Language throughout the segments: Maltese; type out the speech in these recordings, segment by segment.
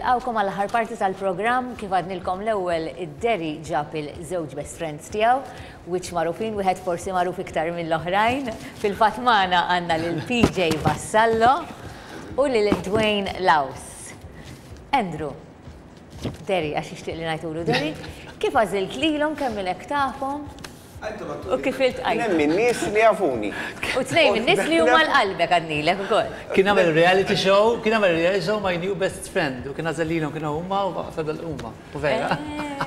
Nilqgħukom għall-aħħar parti tal-programm. Kif għadnilkom l-ewwel, id-Derry ġab il-żewġ best friends tiegħu, wiċċ magħrufin, wieħed forsi magħruf iktar mill-oħrajn. Fil-fatt magħna għandna lil PJ Vassallo u lil Dwayne Laus. Andrew, Derry, għax jixtieq li ngħidulu Derry, kif għażilt lilhom, kemm ilek tafhom? U kif iltqajtu? Kien hemm in-nies li jafuni. U tnejn min-nies li huma għal qalbek għadnilek ukoll. Kien għamel reality show, kien għamel reality show My New Best Friend u kien għażel lilhom kienu huma u fadal huma. U vera.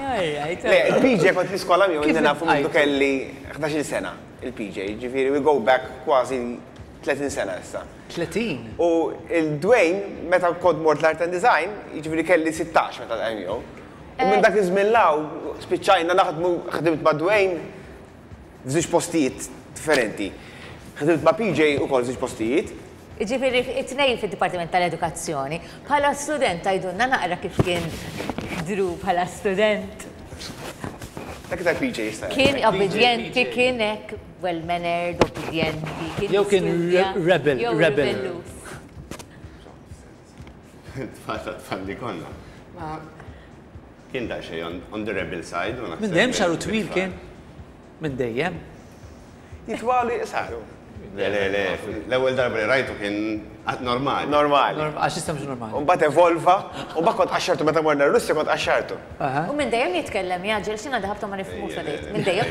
Alright. Le, il-PJ kont l-iskola miegħu ilni nafu mindu kelli 11-il sena, il-PJ, jiġifieri we go back kważi 30 sena issa. 30? U il-Dwayne, meta kont mort l-Art and Design, jiġifieri kelli 16 meta ltqajt miegħu. U minn dak iż-żmien 'l hawn spiċċajna naħdmu, ħdimt ma' Dwayne f'żewġ postijiet differenti. Ħdimt ma' PJ ukoll f'żewġ postijiet. Jiġifieri it-tnejn fid-Dipartiment tal-Edukazzjoni. Bħala student tgħidulna naqra kif kien Drew bħala student? Dak iktar PJ jista' jgħid. Kien obbedjenti, kien hekk well mannered, obbedjenti, kien Jew kien rebel, jew rebel. ribelluż. Tfal ta' tfal li konna. Ma kien daqsxejn on the rebel side. Minn dejjem xagħru twil kien? Minn dejjem? Jitwalu jiqsaru. Le, le, le, l-ewwel darba li rajtu kien normali. Normali. Għax issa mhux normali. U mbagħad evolva, u mbagħad kont qaxxartu meta morna r-Russja kont qaxxartu. U minn dejjem jitkellem jgħaġġel, x'jiena daħabtu ma nifhmux għadejt. Minn dejjem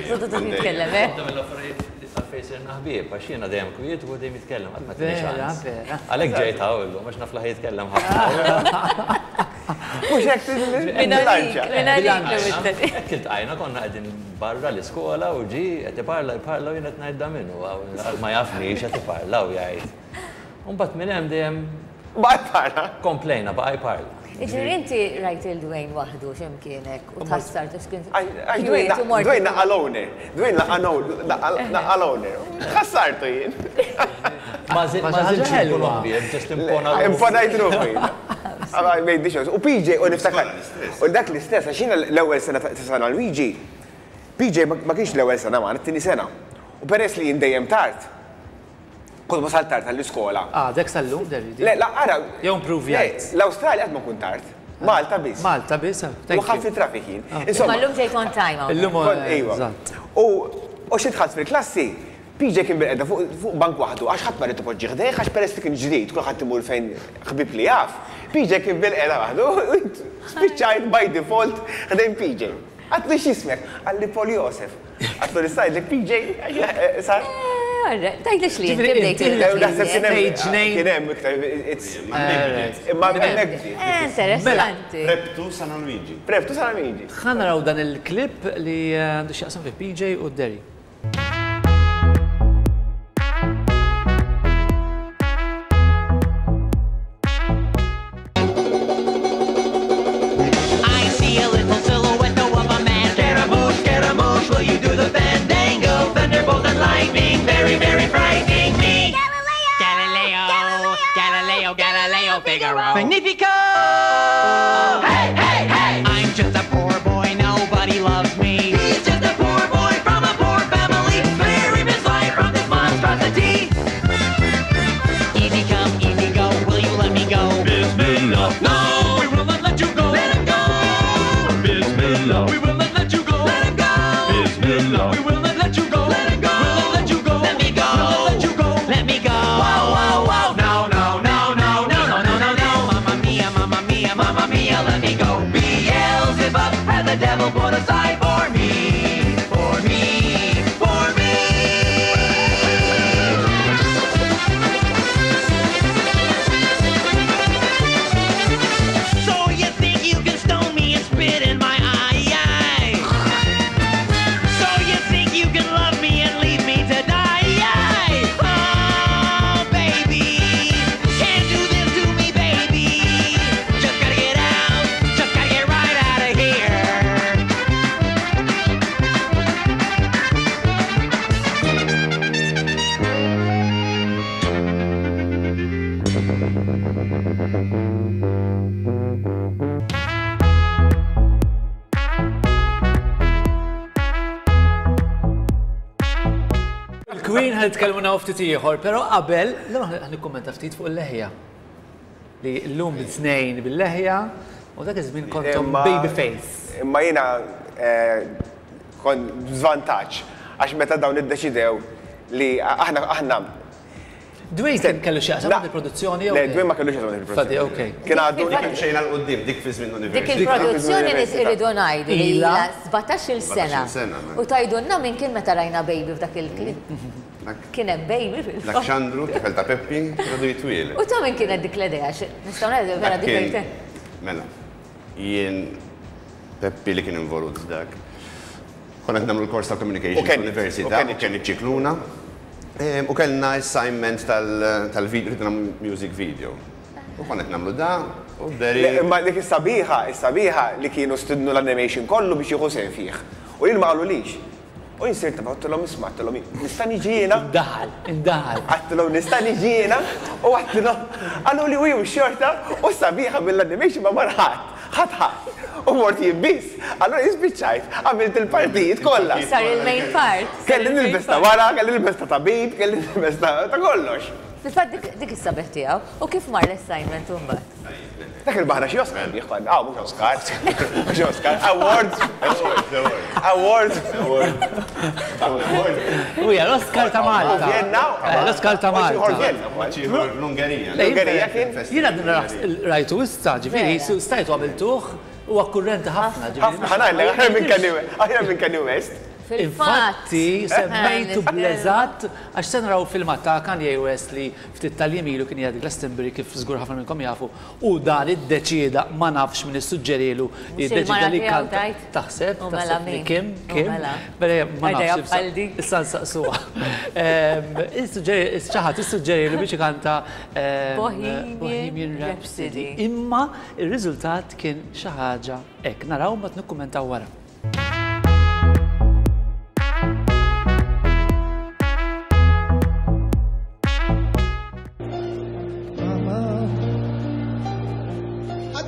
jitkellem, eh? Waħda mill-affarijiet għalfejn sirna ħbieb, għax jiena dejjem kwiet u hu dejjem jitkellem, qatt ma tini Vera, ċans. vera. Għalhekk ġejt hawn illum, għax naf li ħa jitkellem ħafna. Mhux hekk Minn għalik, bilanċa. minn għalik l-ewwel. Hekk iltqajna konna qegħdin barra l-iskola u ġie qed iparla jparla u jien qed ngħid da min hu hawn, ma jafnix qed iparla u jgħid. U mbagħad minn hemm dejjem Baqa' jparla. Komplejna, baqa' jparla. Jiġifieri inti rajt lil Dwayne waħdu xi mkien hekk u tħassart għax kien Għax Dwayne Dwayne laqqa' l-owner. Dwayne laqqa' l-owner. Tħassartu jien. Ma żiltx inkun ħbieb, ġust impona ruħi. Imponajt ruħi. I made the choice. U PJ, u niftakar. U dak l-istess, għax jiena l-ewwel sena ta' San Luigi, PJ ma kienx l-ewwel sena magħna, it-tieni sena. U peress li jien dejjem tard, Kont wasalt tard għall-iskola. Għadek sal-lum, Derridi? Le, la, ara. Jew improvjajt? Le, l-Awstralja qatt ma kont tard. Malta biss. Malta biss, thank you. U ħadt it-traffic jien. Insomma. Imma llum ġejt on time hawnhekk. Illum Iva. Eżatt. U u xi dħalt fil-klassi, PJ kien bilqiegħda fuq fuq bank waħdu għax ħadd ma ried ipoġġih ħdejh għax peress li kien ġdid kulħadd imur fejn ħbieb li jaf. PJ kien bilqiegħda waħdu u spiċċajt by default ħdejn PJ. Għadtlu x'jismek? Qalli Paul Josef. Għatlu li sajdlek PJ, sar. Tgħidlix li inti bdejt. Naħseb kien hemm. Kien hemm iktar. Imma hemmhekk. Interessanti. Prep to San Luigi. Prep to San Luigi. Ħa naraw dan il-clip li għandu x'jaqsam fi PJ u Derry. I see a little silhouette of a man. Scaramouche, Scaramouche, will you do the fandango? Thunderbolt and lightning, very, very frightening me. Galileo, Galileo, Galileo, Galileo, Figaro. Magnifico! Hey, hey, hey! I'm just a poor boy, nobody loves me. He's just a poor boy from a poor family. Spare him his life from this monstrosity. Easy come, easy go, will you let me go? Bismillah. No, we will not let you go. Let him go! Bismillah. We will not let you go. Let him go! Bismillah. We will not let you go. Let him go! We'll not let you go. Let me go! We'll not let you go. Let me go! Wow, wow, wow! No, no, no, no, No, no, no, no, no! Mamma mia, mamma mia, mamma mia, let me go! Beelzebub has the devil put aside for me! For me! For me! So you think you can stone me and spit in my eye? So you think you can love me and leave me to die? Oh, baby, can't do this to me, baby. Just gotta get out, just gotta get right out of here. Il-Queen ħa nitkellmu naw ftit ieħor, però qabel, l ħa nikkummenta ftit fuq il-leħja. Li llum tnejn bil-leħja. U dak iż-żmien kontom baby face. Imma jiena kont b'żvantaġġ għax meta dawn iddeċidew li aħna aħna Dwayne kien kellu x'jaqsam ma' il-produzzjoni jew? Le, Dwayne ma kellux x'jaqsam ma' il-produzzjoni. Okay. Kien għadu. Dik mxejna 'l quddiem, dik fi żmien l-università. Dik il-produzzjoni nies iridu ngħidu li ilha 17-il sena. U tgħidulna min kien meta rajna Baby f'dak il-clip. Kien hemm Baby fil-fatt. Dak Xandru, tifel ta' Peppi, kien għadu jitwieled. U ta' min kienet dik l-idea? Nistgħu ngħidu vera divertenti. Mela, jien Peppi li kien involut f'dak. Konna qed nagħmlu l-kors ta' communication fl-università u Kenny Scicluna. U kellna assignment tal-video, rridna nagħmlu music video. U konna qed nagħmlu da u Derry. Imma dik is-sabiħa, is-sabiħa li kienu stidnu l-animation kollu biex jieħu sehem fih. U jien ma qalulix. U jien sirt naf, għedtilhom isma' għedtilhom nista' niġi jiena? Indaħal, indaħal. Għedtilhom nista' niġi jiena? U għedtilhom, qaluli u jien xorta u s-sabiħa mill-animation ma mar ħadd. Ħadd ħadd. U mort jien biss. Allura jien spiċċajt, għamilt il-partijiet kollha. Sar il-main part. Kelli nilbes ta' wara, kelli nilbes ta' tabib, kelli nilbes ta' kollox. Fil-fatt dik is-sabiħ tiegħu. U kif mar l-assignment imbagħad? Dak irbaħna xi Oscar bih konna. Ah, mhux Oscar. Mhux Oscar. Awards. Awards. U hija l-Oscar ta' Malta. Vienna. L-Oscar ta' Malta. Vienna. L-Ungerija. L-Ungerija kien. Jiena rajtu issa, ġifieri, stajtu għamiltuh, huwa kurrenti ħafna. Ħafna, ħa ngħidlek, aħjar minn Kanye West. Aħjar minn Kanye West. Infatti, semmejtu bl-eżatt, għax se naraw filmat ta' Kanye West li ftit tal-jiem ilu kien qiegħed Glastonbury kif żgur ħafna minnkom jafu u dan iddeċieda ma nafx min issuġġerielu li ddeċieda li jkanta. Taħseb? Taħseb li Kim? Kim? Mela ma nafx. Issa nsaqsuha. Xi ħadd issuġġerielu biex ikanta Bohemian Rhapsody. Imma r-riżultat kien xi ħaġa hekk. Naraw mbagħad nikkummentaw wara.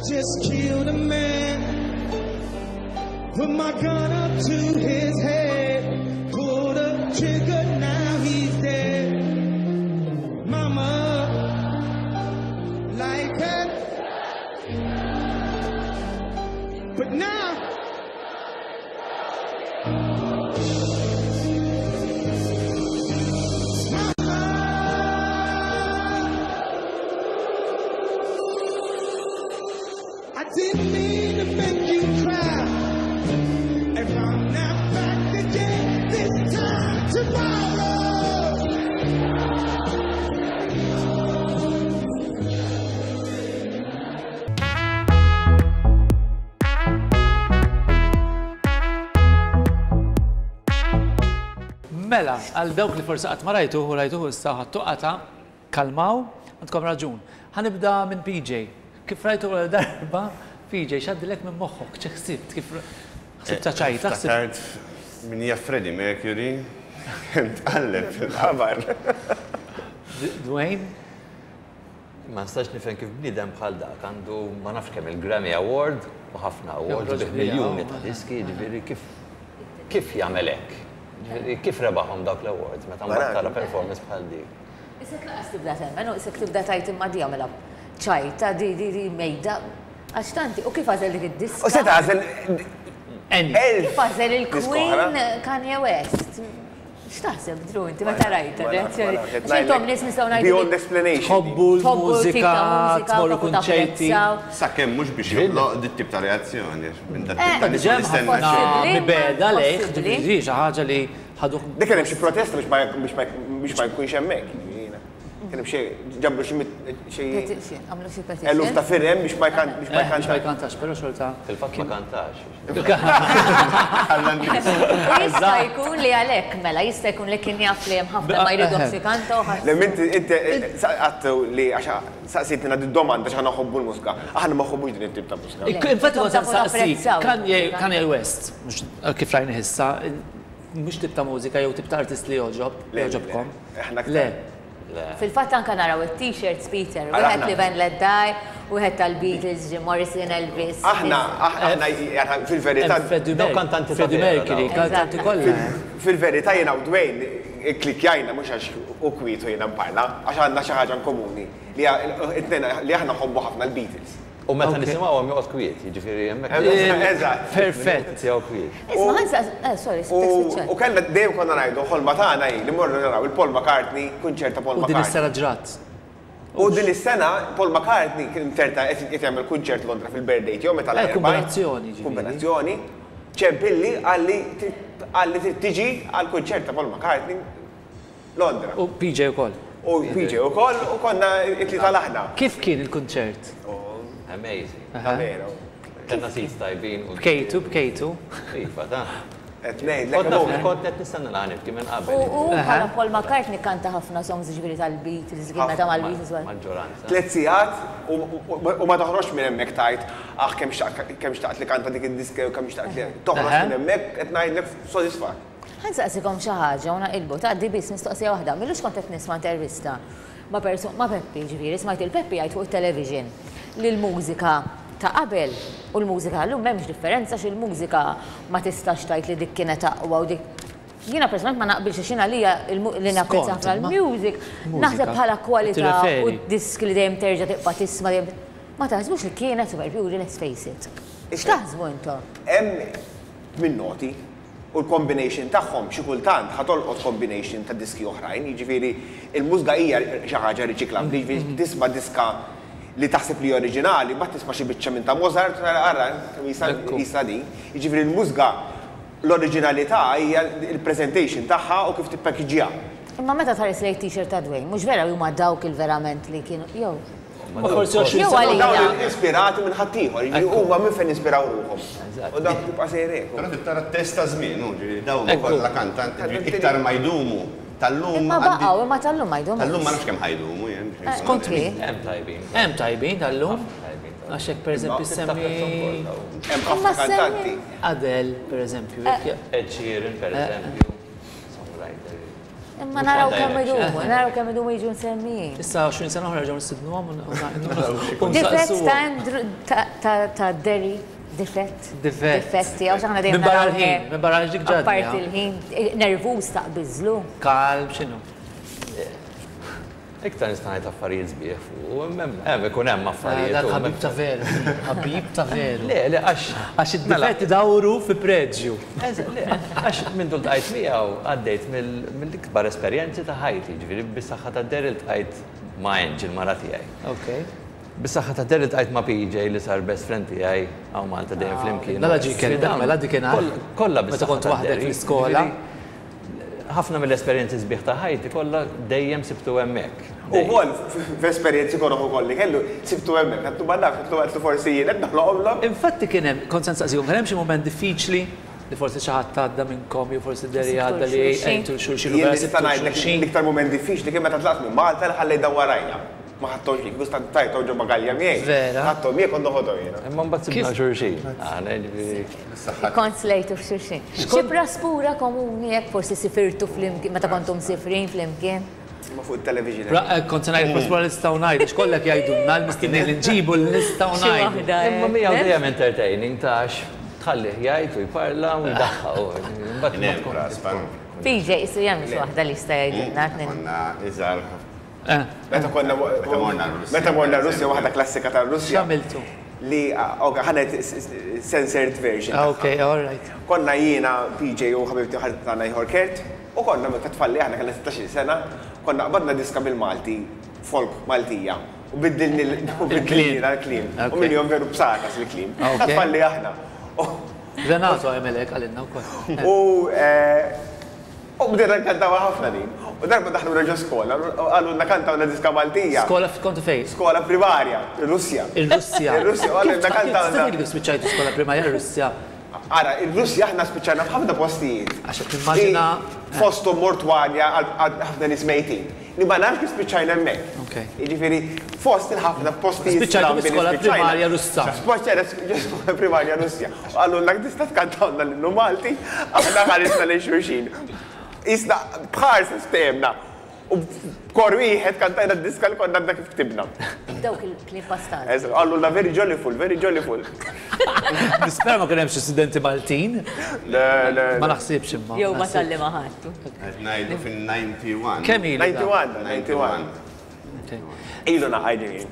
Just killed a man. Put my gun up to his head. Pulled the trigger, now he's dead. Mama, like that. But now I didn't mean to make you cry. If I'm not back again this time tomorrow. Mela, għal dawk li forsi qatt ma rajtuh u rajtuh issa ħadtu qatgħa, kalmaw, għandkom raġun. Ħa nibda minn PJ. Kif rajtu l-ewwel darba, PJ, x'għaddilek minn moħħok? Xi ħsibt? Kif ħsibtha ċajta? Ftakart min hija Freddie Mercury tqalleb fil-qabar. Dwayne? Ma nistax nifhem kif bniedem bħal dak għandu ma nafx kemm il-Grammy Award u ħafna awards bih miljuni ta' diski, jiġifieri kif kif jagħmel hekk? Jiġifieri kif rebaħhom dawk l-awards meta mbagħad tara performance bħal dik? Isek lanqas tibda temmen u isek tibda tgħid imma di għamilha ċajta, di di di mejda. Għax tanti, u kif għażel dik id-diska? U seta' għażel Kif għażel il-Queen Kanye West? X'taħseb, Drew, inti meta rajt ir-reazzjoni? Għax intom nies nistgħu ngħidu. Beyond explanation. Tħobbu l-mużika, tmorru kunċerti. Sakemm mhux biex joħloq dit-tip ta' reazzjoni, għax minn dat-tip ta' nies ma nistenna xejn. Mibegħda lejh, ġifieri xi ħaġa li ħaduh. Dik kien hemm xi protesta biex ma jkunx hemmhekk. Kien hemm xi ġabru xi xi Petition, għamlu xi petition. Eluf ta' firem biex ma jkan biex ma jkantax. Biex ma jkantax, però xorta. Fil-fatt ma kantax. Jista' jkun li għalhekk mela, jista' jkun li kien jaf li hemm ħafna ma jridhomx ikanta u ħadd. Le inti inti għadtu li għax saqsejtna di domanda għax aħna nħobbu l-mużika. Aħna ma nħobbux din it-tip ta' mużika. Infatti kont se nsaqsik, Kanye Kanye West, mhux kif rajnih issa, mhux tip ta' mużika jew tip ta' artist li jogħġob, jogħġobkom. Le. Fil-fatt anke naraw it-t-shirts Peter, wieħed Live and Let Die, wieħed tal-Beatles, Jim Morrison, Elvis. Aħna, aħna, fil-verità. Dawk kantanti ta' Freddie Mercury, kantanti kollha. Fil-verità jiena u Dwayne ikklikkjajna mhux għax hu kwiet u jiena nparla, għax għandna xi ħaġa in komuni li it-tnejn li aħna nħobbu ħafna l-Beatles. U meta nisimgħuhom joqgħod kwiet, jiġifieri hemmhekk. Eżatt. Perfett. Tiegħu kwiet. Isma' ħa nsaqs, eh, sorry, U kellna dejjem konna ngħidu ħolma tagħna hi li mmorru naraw il-Paul McCartney, kunċert ta' Paul U din McCartney. is-sena ġrat. U din is-sena Paul McCartney kien inzerta qed jagħmel kunċert Londra fil-birthday tiegħu meta Eh, kombinazzjoni ġifieri. Kombinazzjoni. Ċempilli qalli qalli trid tiġi għall-kunċert ta' Paul McCartney Londra. U PJ ukoll. U PJ ukoll u konna it-tlieta l-aħna. Kif kien il-kunċert? Amazing. Veru. Kellna seats tajbin. Bkejtu, bkejtu. Iva, ta. Qed ngħidlek. Kont naf, kont qed nistenna li ħa nibki minn qabel. U bħala Paul McCartney kanta ħafna songs ġifieri tal-Beatles, kien meta mal-Beatles. Maġġoranza. Tliet sigħat u ma toħroġx minn hemmhekk tgħid ah kemm xtaqt kemm xtaqt li kanta dik id-diska jew kemm xtaqt li toħroġ minn hemmhekk qed ngħidlek sodisfatt. Ħa nsaqsikom xi ħaġa u naqilbu, tgħaddi biss mistoqsija waħda. M'ilux kont qed nisma' intervista ma' persu ma' Peppi, ġifieri smajt lil Peppi jgħid fuq it-television li l-mużika ta' qabel u l-mużika tal-lum m'hemmx differenza għax il-mużika ma tistax tgħid li dik kienet aqwa u dik Jiena personalment ma naqbilx għax jien għalija li napprezza ħafna l-music, naħseb bħala kwalità u d-diski li dejjem terġa' tibqa' tisma' dejjem ma taħsbux li kienet superjuri let's face it. X'taħsbu intom? Hemm min noti u l-combination tagħhom xi kultant ħa tolqot combination ta' diski oħrajn, jiġifieri l-mużika hija xi ħaġa riċiklabbli, jiġifieri tisma' diska li taħseb li oriġinali, mbagħad tisma' xi biċċa minn ta' Mozart u tara ara kemm qisha din. Jiġifieri l-mużika l-oriġinalità hija l-presentation tagħha u kif tippackagġjaha. Imma meta tħares lejn t-t-shirt ta' Dwayne, mhux vera li huma dawk il-verament li kienu jew. Ma forsi 20 Jew sena. għalina. Dawn ispirati minn ħaddieħor, jiġifieri huma minn fejn ispiraw ruħhom. U dak tibqa' sejjer hekk. Però trid tara t-test ta' żmien, hu, ġifieri dawn kollha kantanti, ġifieri iktar ma jdumu tal-lum. Imma baqgħu, imma tal-lum ma jdumux. Tal-lum ma nafx kemm ħa jdumu jien. Skont min? Hemm tajbin. Hemm tajbin tal-lum. Għax hekk pereżempju semmi. Hemm ħafna kantanti. Adele, pereżempju. Ed Sheeran, pereżempju. Songwriter. Imma naraw kemm idumu, naraw kemm idumu jiġu msemmijin. Issa 20 sena oħra ġew nistidnuhom u Difett ta' Andrew ta' Derry, difett. Difett. Difett tiegħu x'aħna dejjem Minn barra l-ħin, minn barra dik ġadni. Apparti l-ħin, nervuż taqbiżlu. Kalm, x'inhu? Iktar nista' ngħid affarijiet sbieħ fuq, hemm ikun hemm affarijiet. Dak ħabib ta' veru, ħabib ta' veru. Le, le, għax. Għax id-difetti dawru fi preġju. Le, għax minn dul tqajt miegħu għaddejt mill-ikbar esperjenzi ta' ħajti, ġifieri bis-saħħa ta' Daryl tqajt ma' Angie, il-mara tiegħi. Ok. Bis-saħħa ta' Daryl tqajt ma' PJ li sar best friend tiegħi hawn Malta dejjem flimkien. Mela ġie kelmek, mela dik kien Kollha Meta kont waħdek fl-iskola. Ħafna mill-esperjenzi sbieħ ta' ħajti kollha dejjem sibtu hemmhekk. U wkoll f'esperjenzi koroh ukoll li kellu sibtu hemmhekk, għedtlu ma nafx, għedtlu għedtlu forsi jien qed noħloqhomlok. Infatti kien hemm, kont se nsaqsikom, kien hemm xi mument diffiċli li forsi xi ħadd għadda minnkom jew forsi Derry għadda li għentu 'l xulxin u Jien vera nista' sibtu 'l ngħidlek xulxin. l-iktar mument diffiċli kien meta tlaqt minn Malta li ħallejt dawn warajja. Ma ħadthomx miegħi, kieku tajthom ġo bagalja miegħi. Vera? Ħadthom miegħi kont noħodhom jiena. Imma mbagħad sibna xulxin. Aħna jiġifieri. Kont slejtu f'xulxin. Xi praspura komuni hekk forsi sifirtu flimkien meta kontu msifrin flimkien? Ma fuq it-television. Kont se ngħid praspura li nistgħu ngħidu, x'kollek jgħidulna l-mistednin li nġibu li nistgħu Xi ngħidu. waħda. Imma miegħu dejjem entertaining ta' għax tħallih jgħid u jparla u jdaħħaq. Imbagħad ma tkun. Praspa. PJ, issu jagħmel xi waħda li jista' jgħidilna. Konna iżgħar. Meta konna Meta morna r-Russja. Meta morna r-Russja, waħda klassika tar-Russja. X'għamiltu? Li, ok, ħa ngħid censored version. Ah, ok, all right. Konna jiena, PJ u ħabibti ħadd tagħna ieħor Kurt, u konna meta tfalli aħna kellna 16 sena, konna qbadna diska bil-Malti, folk Maltija, u biddilni u biddilni l-kliem. U minn jom veru b'sakas il-kliem. Ok. Tfalli aħna. Renato għamel hekk għalinna wkoll. U u bdejna nkantaw ħafna din. U darba daħlu ġo skola, u qalulna kantawna diska Maltija. Skola kontu fejn? Skola primarja, ir-Russja. Ir-Russja. Ir-Russja, u qalulna kantawna. Kif kif spiċċajtu skola primarja ir-Russja? Ara, ir-Russja aħna spiċċajna f'ħafna postijiet. Għax qed nimmaġina. Li Fosthom mortwarja għal ħafna nies mejtin. Li ma nafx kif spiċċajna hemmhekk. Ok. Jiġifieri fost il-ħafna postijiet. Spiċċajtu strambi li fi skola spiċċajna. primarja Russa. Spiċċajna ġo skola primarja Russja. U qalulna tista' tkantawna l-innu Malti, aħna ħarisna lejn xulxin. Isna bħarsa stemna. U b'kor wieħed kantajna d-diska li konna għadna kif ktibna. Dawk il-kliem pastat. Eżatt, Qalulna very jollyful, very jollyful. Nispera ma kien hemm xi studenti Maltin. Le, le. Ma naħsibx imma. Jew ma talli ma ħadtu. Qed ngħidu fin-91. Kemm ilu? dan? 91, 91. Ilu naqaj ġejjin.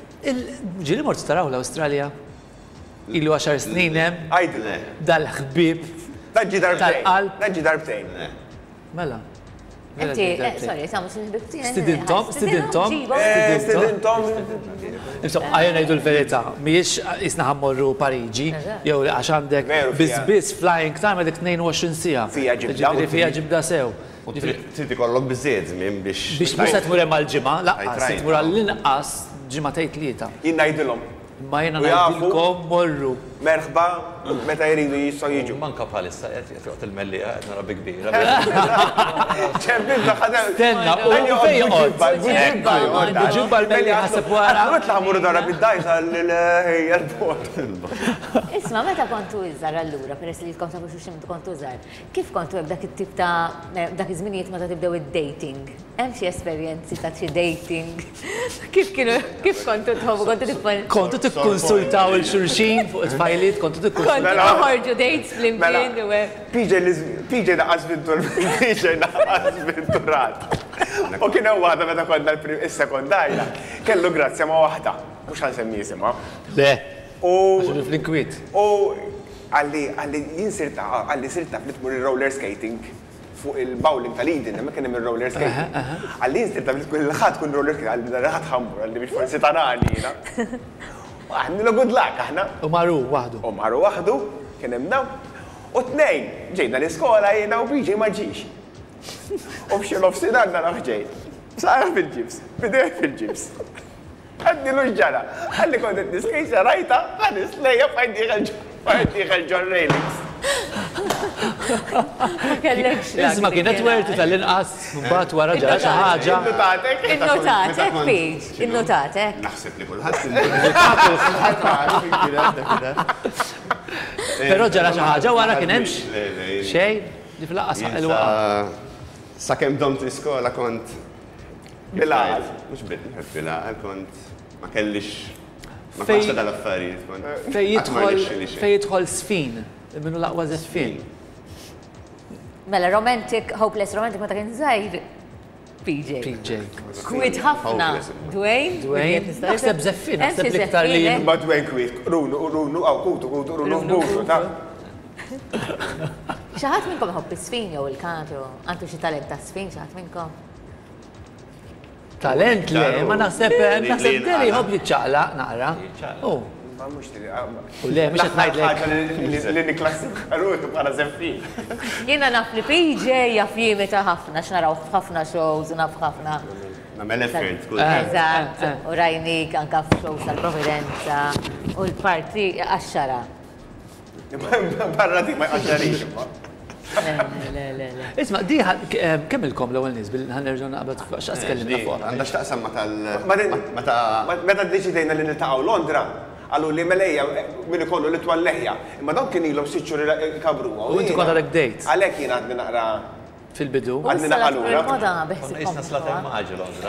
Ġieli mort taraw l-Awstralja? Ilu għaxar snin hemm. Għidlu. Dal-ħbieb. Dan ġie darbtejn. Tal-qalb. Dan ġie darbtejn. Mela. Inti, sorry, sa mux il-ħbib tiegħi. Stidintom, stidintom. Stidintom. Insomma, għajja ngħidu l-verità, mhijiex isna ħammorru Pariġi, jew li għax għandek biss biss flying time għandek 22 siegħa. Fija ġibda. Fija ġibda sew. U trid ikollok biżżejjed żmien biex. Biex mhux se tmur hemm għal ġimgħa, lanqas, se tmur għall-inqas ġimagħtejn tlieta. Jien ngħidilhom. Imma jiena ngħidilkom morru. Merħba, meta jridu jistgħu jiġu. Manka bħalissa qed joqgħod il-mellieħa qed nara bi kbira. Ċempilna ħadem. Stenna, u fejn joqgħod? Buġibba joqgħod. Buġibba l-mellieħa ħaseb wara. Għatlu ħamuru dara bid-dajsa l-airport. Isma' meta kontu iżgħar allura, peress li ilkom tafu xulxin meta kontu żgħar, kif kontu hekk dak it-tip ta' dak iż-żminijiet meta tibdew id-dating? Hemm xi esperjenzi ta' xi dating? Kif kienu, kif kontu tħobbu, kontu tippon. Kontu tikkonsultaw il xulxin fuq it-tfajliet, kontu tikkonsultaw. Kontu toħorġu dates flimkien u hekk. PJ li PJ naqqas vintur PJ naqqas vinturat. U kien hemm waħda meta konna l-sekondarja, kellu grazzja ma' waħda, mhux ħa nsemmi isimha. Le. U. Għax fl-inkwiet. U qalli qalli jien sirt qalli sirt taf li tmur ir-roller skating. fuq il-bowling tal-Eden, hemmhekk kien hemm ir-roller skating. Qalli jien sirt taf li l-Ħadd tkun roller skating, qalli nhar il-Ħadd ħa mmur, qalli biex forsi tarani jiena. U għidnilu good luck aħna. U mar hu waħdu. U mar hu waħdu, kien hemm dawn. U t-Tnejn, ġejna l-iskola jiena u PJ ma ġiex. U f'xi nofsinhar narah ġej. Saqajh fil-ġibs, b'idejh fil-ġibs. Għednilu x'ġara. Qalli kont qed niskejxa rajtha, ħares lejja bqajt dieħel bqajt dieħel ġor-railings. Ma kellekx luck. Isma' kienet worth it għall-inqas mbagħad wara ġara xi ħaġa. Innotatek? Innotatek, Paige, innotatek. Naħseb li kulħadd innotat. Però ġara xi ħaġa wara kien hemmx? Xejn? Ġifieri lanqas ħaqq il-waqgħa. Sakemm domt l-iskola kont Bil-għaqal. Mhux bil-għaqal kont ma kellix ma kontx ta' dal-affarijiet. Fejn jidħol fejn jidħol żfin, min hu l-aqwa żeffien. Mela romantic, hopeless romantic meta kien żgħir PJ. PJ. Kwiet ħafna. Dwayne? Dwayne. Naħseb żeffien, naħseb l-iktar li. Ma Dwayne kwiet, runu, runu, għaw kutu, kutu, runu, kutu, ta' Xi ħadd minnkom iħobb iż-żfin jew il-kant jew għandu xi talent ta' żfin xi ħadd minnkom? Talent le, ma naħseb naħseb Derry jħobb jiċċaqlaq naqra. Oh. Ma mhux li. U le, mhux qed ngħidlek. Li nikklassifika ruħi bħala żeffien. Jiena naf li PJ jaf jimita ħafna, x'naraw f'ħafna shows u naf ħafna. Nagħmel effort kull. Eżatt, u rajnik anke f'shows tal-Providenza u l-parti għax-xara. Barra dik ma jqaxxarix imma. Le, le, le. Isma' di kemm ilkom l-ewwel nies bil ħa nerġgħu naqbad fuq x'qas tkellimna fuqha. Għandha x'taqsam ma' tal. Meta. Meta ddeċidejna li niltaqgħu Londra, qaluli mela ejja min ikollu l-itwal leħja. Imma dawn kien ilhom sitt xhur ikabruha. U inti kont għadek bdejt. Għalhekk jien għadni naqra. Fil-bidu. Għadni naqra lura. Konna qisna slaten maġi Londra.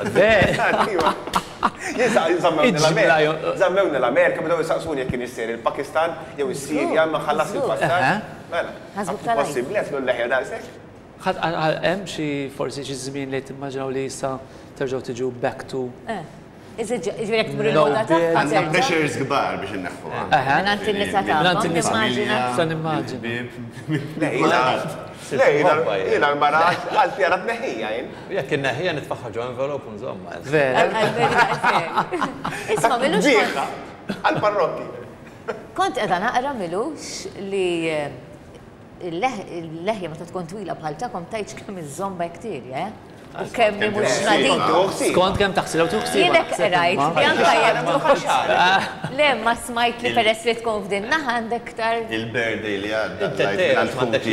Żammewni l-Amerika, bdew isaqsuni jekk kienx sejjer il-Pakistan jew is-Sirja, imma ħallast il-passar. Mela, possibbli għedtlu l-leħja daqshekk? Ħadd hemm xi forsi xi żmien li timmaġinaw li issa terġgħu tiġu back to. Ġifieri jekk tmur il-moda tagħha. Għandna pressures kbar biex inneħħuha. Mingħand in-nisa tagħkom. Mingħand in-nisa. Nista' nimmaġina. Le, jiena l-mara għal tjara tneħħija jien. Jekk inneħħija nitfaħħa ġo envelope u nżommha. Vera. Isma' milux. Għall-parrokki. Kont qiegħda naqra milux li il-leħja meta tkun twila bħal tagħkom tgħidx kemm iżżomm bakterja, eh? U kemm hi mhux nadifa. Skont kemm taħsilha u tuħsilha. Jien hekk qrajt li anke jekk tuħ. Le, ma smajt li peress li tkun f'din naħa għandek iktar. Il-birthday li għadda tlajt mingħand ħuti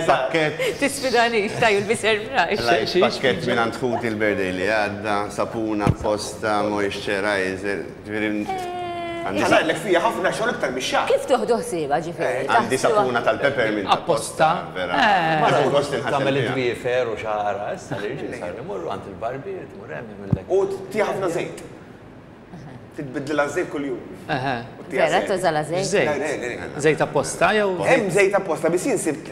pakkett. Tisfidanix, ta' you'll be surprised. Tlajt pakkett mingħand ħuti l-birthday li għadda, sapuna apposta, moisturizer, ġifieri. Għandi ngħidlek fija ħafna xogħol iktar mix-xagħar. Kif tuħdu ħsiebha ġifieri? Għandi sapuna tal-peppermint apposta. Vera. Tieħu gost inħasseb. Tagħmel id-dwiefer u xagħarha, issa l-irġiel saru jmorru għand il-barbier, tmur hemm jagħmillek. U tih ħafna żejt. Titbiddilha ż-żejt kuljum. Vera tuża la żejt? Żejt. Żejt apposta jew? Hemm żejt apposta biss jien sibt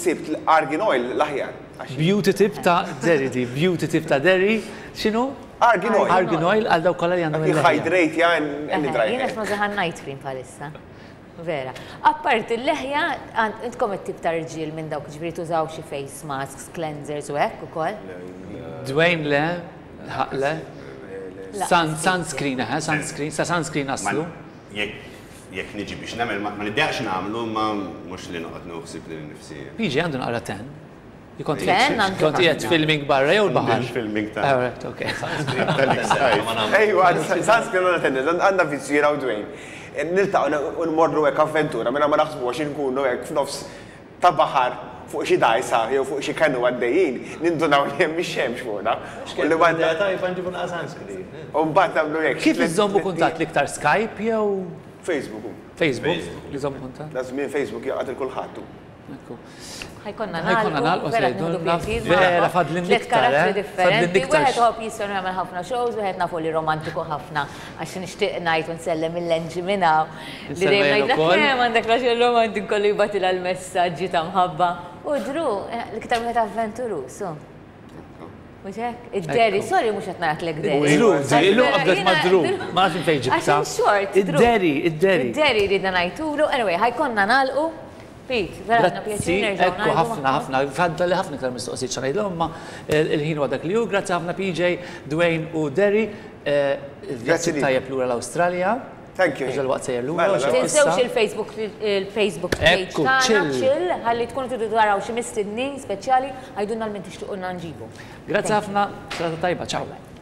sibt l-argan oil l-aħjar. Beauty tip ta' Derry di, beauty tip ta' Derry, x'inhu? Argan oil. Argan oil għal dawk kollha li għandhom il-leħja. Hydrate ja and dry. Jien qed nużaha night cream bħalissa. Vera. Apparti l-leħja, intkom it-tip ta' rġiel minn dawk ġifieri tużaw xi face masks, cleansers u hekk ukoll? Dwayne le, ħaq le. Sunscreen, eħe, sunscreen, sa sunscreen naslu. Jekk niġi biex nagħmel, ma niddejjaqx nagħmlu, imma mhux li noqgħod nieħu ħsieb lili nnifsi. PJ għandu naqra tan. Kont qiegħed filming barra jew l-baħar? Filming ta' All right, okay. Ejwa, sunscreen għandna tendenza, għandna vizzju jiena u Dwayne. Niltaqgħu u nmorru hekk avventura mingħajr ma naħsbu għax inkunu hekk f'nofs ta' baħar fuq xi dgħajsa jew fuq xi kanu għaddejjin, nindunaw li hemm ix-xemx fuqna. U li m'għandna. Idea tajba nġibu naqra sunscreen. U mbagħad nagħmlu hekk. Kif iżżommu kuntatt l-iktar Skype jew? Facebook. Facebook, li żommu kuntatt? Da żmien Facebook jgħaqqad il kulħadd hu. Ekku. Ħajkonna Ħajkonna nagħlqu, nagħlqu, vera se nieħdu jgħidulna, pjaċir vera magħkom. fadlin Tliet iktar, karattri eh? differenti, Fadlin iktar. wieħed iħobb jisfer u jagħmel ħafna shows, wieħed nafu li romantiku ħafna għax nixtieq ngħid u nsellem il-Lenġi minn hawn li Insellem dejjem jien ngħidlek ukoll. kemm għandek raġel romantiku kollu jibgħatilha l-messaġġi ta' mħabba. U Drew, eh, l-iktar wieħed avventuruż, hu. Mhux hekk? Id-Derry, sorry mhux qed ngħidlek Derry. Drew, Derry, illum qabdet ma' Drew. Ma nafx minn fejn ġibtha. Għax in short, Drew. Id-Derry, id-Derry. Id-Derry ridna ngħidulu. Anyway, ħa jkollna nagħlqu. Pete, vera ħadna Grazzi, pjaċir nerġgħu ekku ngħidu ħafna, ħafna, fadda li ħafna iktar mistoqsijiet xa ngħidilhom, imma il-ħin huwa dak li hu. Grazzi ħafna PJ, Dwayne u Derry. Il-vjaġġ tajjeb lura l-Awstralja. Thank you. Għax dalwaqt sejjer lura. Mela, mela. Tinsewx il-Facebook il-Facebook page Ekku, tagħna, chill. chill, ħalli tkunu tridu taraw xi mistednin speċjali, għidulna lil min tixtiequlna nġibu. Grazzi ħafna, serata tajba, ciao.